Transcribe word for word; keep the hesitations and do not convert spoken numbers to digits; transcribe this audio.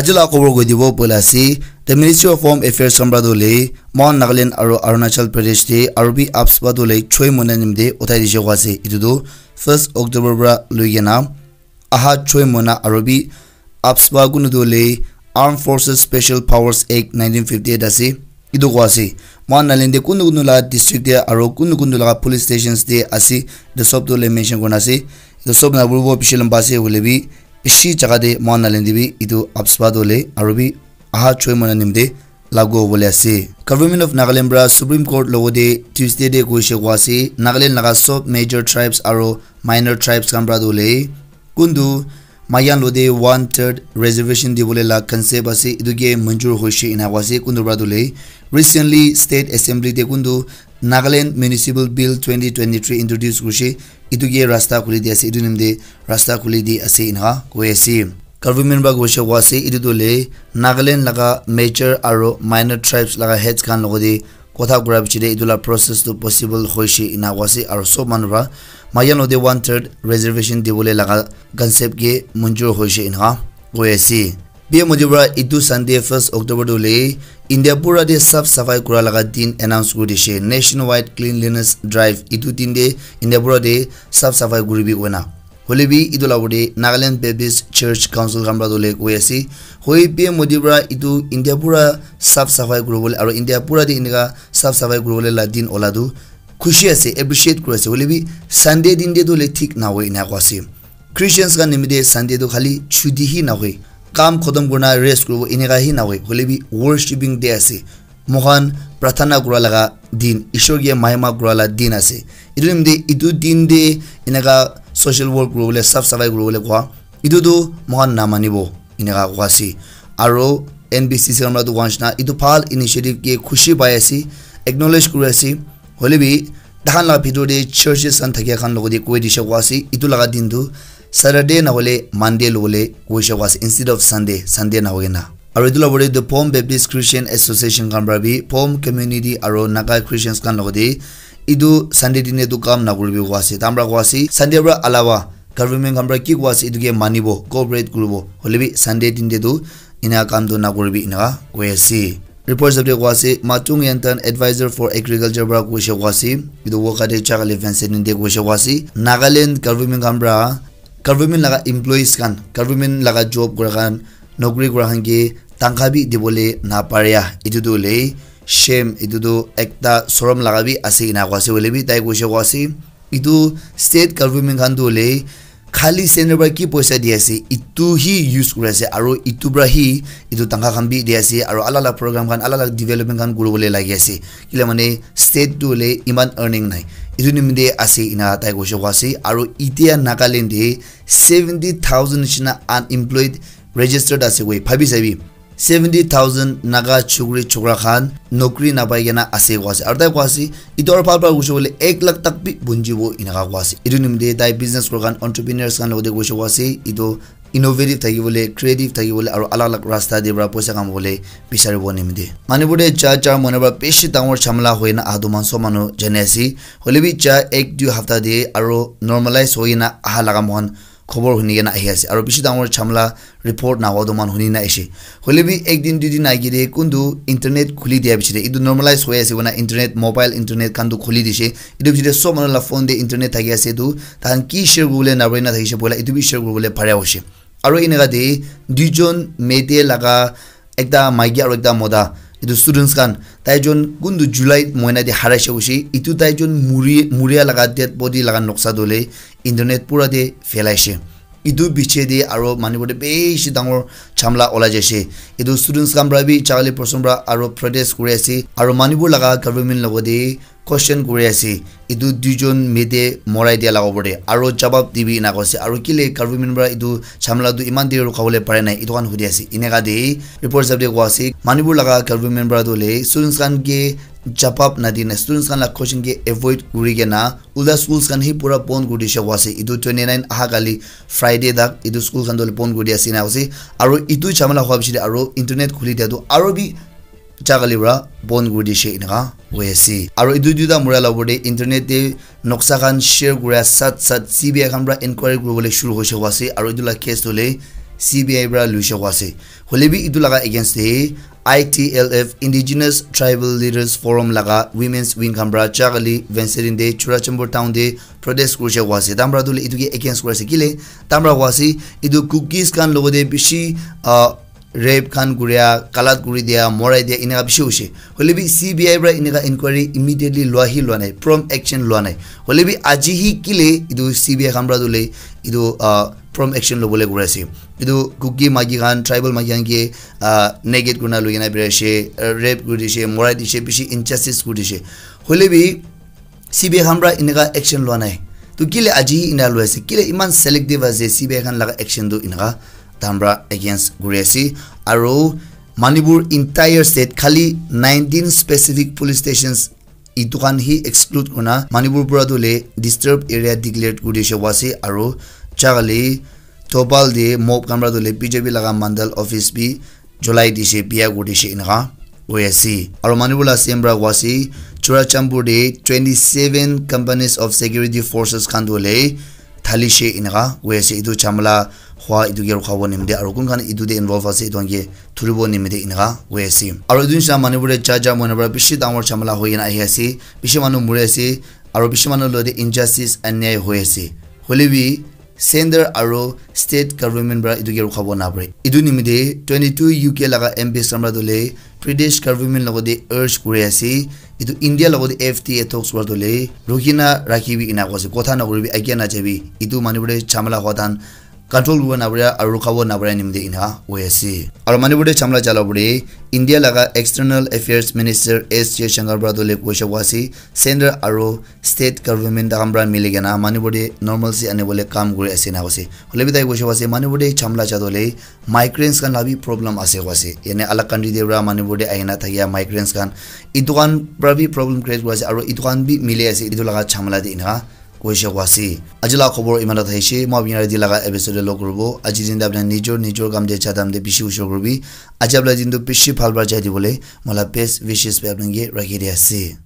Aji la khobor koi dibo poila ase, the Ministry of Home Affairs khan pra tu le, Mon Nagaland aro Arunachal Pradesh te aro bi AFSPA tu le choi moina nimite uthai dishe koa ase. Etu tu first October pra loi kena aha choi moina aro bi AFSPA kunu tu le Armed Forces Special Powers Act nineteen fifty-eight ase. Etu koa ase. Mon Nagaland te kunu kunu la district te aro kunu kunu la police stations te ase. Etu sob tu le mention kurna ase. Etu sob na buribo bishi lamba ase hoile bi bishi jaga te Mon Nagaland te bi etu AFSPA tu le aro bi aha choi moina nimite lagu hobole ase. Government of Nagaland pra Supreme Court logo te Tuesday te koishe koa ase, Nagaland laga sob major tribes aro minor tribes khan pra tu le kuntu mayan lo te one third reservation dibole la concept ase, etu ke manjur hoishe ena koa ase kuntu pra tu le. Recently, State Assembly te kuntu Nagaland Municipal Bill twenty twenty-three introduce kurishe, etu ke rasta khuli di ase, etu nimite rasta khuli di ase ena koi ase. Government pra koishe koa ase, etu tu le Nagaland laga major aro minor tribes laga heads khan logo te kotha kura piche te etu la process tu possible hoishe ena koa ase, aro sob manu pra mayan lo te one third reservation dibole laga concept ke manjur hoishe ena koi ase. P M Modi pra etu Sunday first October tu le India pura te saf safai kura laga din announce kuri dishe, nationwide cleanliness drive. Etu din te India pura te saf safai kuribi koina. Hoile bi etu la opor te Nagaland Baptist Church Council khan pra tu le koi ase, hoi P M Modi pra etu India pura saf safai kuribole aro India pura te enika saf safai kuribole la din ola tu khushi ase, appreciate kuri ase. Hoile bi Sunday din te tu le thik na hoi ena koa ase. Christians khan nimite Sunday tu khali chuti hi na hoi, kam khotom kurna rest kuribo enika hi na hoi, hoile bi worshipping day ase. Moikhan prarthana kura laga din, Ishwar ke mahima kura la din ase. Etu nimite etu din te eneka social work kuribole, saf safai kuribole koa, etu tu moikhan namanibo, eneka koa ase. Aro N B C C khan pra tu koa nishina etu bhal initiative ke khushi pai ase, acknowledge kuri ase. Hoile bi takhan la bhitor te churches khan thakia khan logo te koi dishe koa ase, etu laga din tu Saturday na hoile Monday lobole koishe koa ase instead of Sunday, Sunday na hoi kena. Aro etu la opor te the Phom Baptist Christian Association khan pra bi Phom community aro Naga Christians khan logo te etu Sunday din te tu kam na kuribi koa ase. Takhan pra koa ase Sunday pra alawa government khan pra ki koa ase etu ke manibo, cooperate kuribo. Hoile bi Sunday din te tu ena kam tu na kuribi ena koi ase. Report hisab te koa ase, Matung Yantan, advisor for agriculture pra koishe koa ase, etu Wokha te Chakali Vincent te koishe koa ase, Nagaland government khan pra, government laga employees khan, government laga job kura khan, nokri kura khan ke tangkha bi dibole na paria. Etu tu hoile shame, etu tu ekta sorom laga bi ase ena koa ase, hoile bi tai koishe koa ase, etu state government khan tu hoile khali center pra ki poisa di ase, etu hi use kuri ase, aro etu pra hi etu tangkha khan bi di ase, aro alak alak program khan, alak alak development khan kuribole lagi ase. Kile mane state tu hoile iman earning nai, etu nimite ase ena tai koishe koa ase. Aro itia Nagaland te seventy thousand nishina unemployed registered ase koi, bhabi sabi. Seventy thousand Naga chukri chukra khan nokri napai kena ase koa ase. Aro tai koa ase, etu aro bhal bhal koishe koile ek lakh tak bi bunjibo eneka koa ase. Etu nimite tai business kura khan, entrepreneurs khan logote koishe koa ase, etu innovative thakibole, creative thakibole, aro alak alak rasta te pra poisa kamabole bisaribo nimite. Manipur te ja char moina pra bishi dangor jhamela hoina aha tu man sob manu jani ase. Hoile bi ja ek dui hapta te aro normalize hoina aha laga moikhan khobor huni kena ahi ase. Aro bishi dangor jhamela report nahoa tu moikhan huni na ahishe. Hoile bi ek din, dui din age te kuntu internet khuli dia piche te, etu normalize hoi ase koina internet, mobile internet khan tu khuli dishe. Etu piche te sob manu la phone te internet thaki ase tu, tahan ki share kuribole napari na thakishe, poila etu bi share kuribole pare hoishe. Aro eneka te duijon Meitei laga ekta maiki aro ekta mota, etu students khan, taijon kuntu July moina te haraishe hoishe, etu taijon muri, muria laga dead body laga noksa tu hoile internet pura te phelaishe. Etu piche te aro Manipur te bishi dangor jhamela olai jaishe. Etu students khan pra bi Chakali Person pra aro protest kuri ase, aro Manipur laga government logote question kuri ase, etu duijon Meitei morai dia laga opor te, aro jawab dibi ena koi ase, aro kile government pra etu jhamela tu iman der rukha bole pare nai, etu khan hudi ase. Eneka te report hisab te koi ase, Manipur laga government pra tu hoile students khan ke jawab na di na, students khan la question ke avoid kuri kena ulta schools khan hi pura bon kuri dishe koi ase. Etu twenty nine aha kali Friday tak etu school khan tu hoile bon kuri dia ase ena koi ase, aro etu jhamela hua piche te aro internet khuli dia tu aro bi ja kali pra bon kuri dishe eneka hoi ase. Aro etu duita muria la opor te internet te noksa khan share kuria sat sat C B I khan pra enquiry kuribole shuru hoishe koi ase, aro etu la case tu hoile C B I para luisha koa ase. Hoile bi etu laga against te I T L F, Indigenous Tribal Leaders Forum laga women's wing khan para Chagali, Vensirin te, Churachandpur town te protest kurisha koa ase. Tamra tu le etu ke against kuri ase. Kile tamra koa ase, etu Kukis khan logote bishi, ah, rape khan kuria, kalat kuri dia, morai dia, eneka bishi hoise. Hoile bi C B I para eneka inquiry immediately lua hi lua nai, prompt action lua nai. Hoile bi aji hi kile etu C B I khan para tu le etu, ah, prompt action lobole kuri ase. Etu Kuki maiki khan, tribal maiki khan ke, ah, naked kurina loi kena birai ase, ah, rape kuri dishe, morai dishe, bishi injustice kuri dishe. Hoile bi C B I khan para eneka action lua nai. Tu kile aji hi ena loi ase? Kile iman selective ase C B I khan laga action tu eneka tamra against kuri ase? Aro Manipur entire state khali nineteen specific police stations itu khan hi exclude kurina Manipur pura tu le disturbed area declared kuri dishe koa ase, aro Chagali, Thoubal te mob khan para tu le B J P laga mandal office bi jolai dishe, biya kuri dishe eneka koi ase. Aro Manipur la C M para koa ase, Churachandpur te twenty seven companies of security forces khan tu le thalishe eneka koi ase. Etu jhamala hua etu ke rukhabo nimite aro kun khan etu te involve ase etu khan ke thuribo nimite eneka koi ase. Aro etu nisna Manipur te cha cha moina para bishi dangor jhamala hoi kena ahi ase, bishi manu muri ase, aro bishi manu logote injustice, anyai hoi ase. Hoile bi center aro state government para etu ke rukhabo napare. Etu nimite twenty two U K laga M Ps khan para tu le British government logote urge kuri ase, etu India logote F T A talks para tu le rukina rakhibi ena koa ase, kotha nakuribi, agia najabi. Etu Manipur te jhamala hua tan control kuribo napare aro rukhabo napare nimite eneka koi ase. Aro Manipur te jhamala chala pore India laga External Affairs Minister S Jaishankar para tu le koisha koa ase, center aro state government takhan para mili kena Manipur te normalcy anibole kam kuri ase ena koise. Hoile bi tai koisha koa ase Manipur te jhamala cha tu le migrants khan la bi problem ase koa ase. Yane alag country te para Manipur te ahina thakia migrants khan etu khan para bi problem create kuri ase aro etu khan bi mili ase etu laga jhamala te eneka koisha koa ase. Aji la khobor iman ta thaishe, moi apni yate laga episode te log kuribo. Aji din te apni nijor nijor kam te jadam te bishi ushor kuribi. Aji apni din tu bishi bhal para jai dibole moi la best wishes bi apni ke rakhi di ase.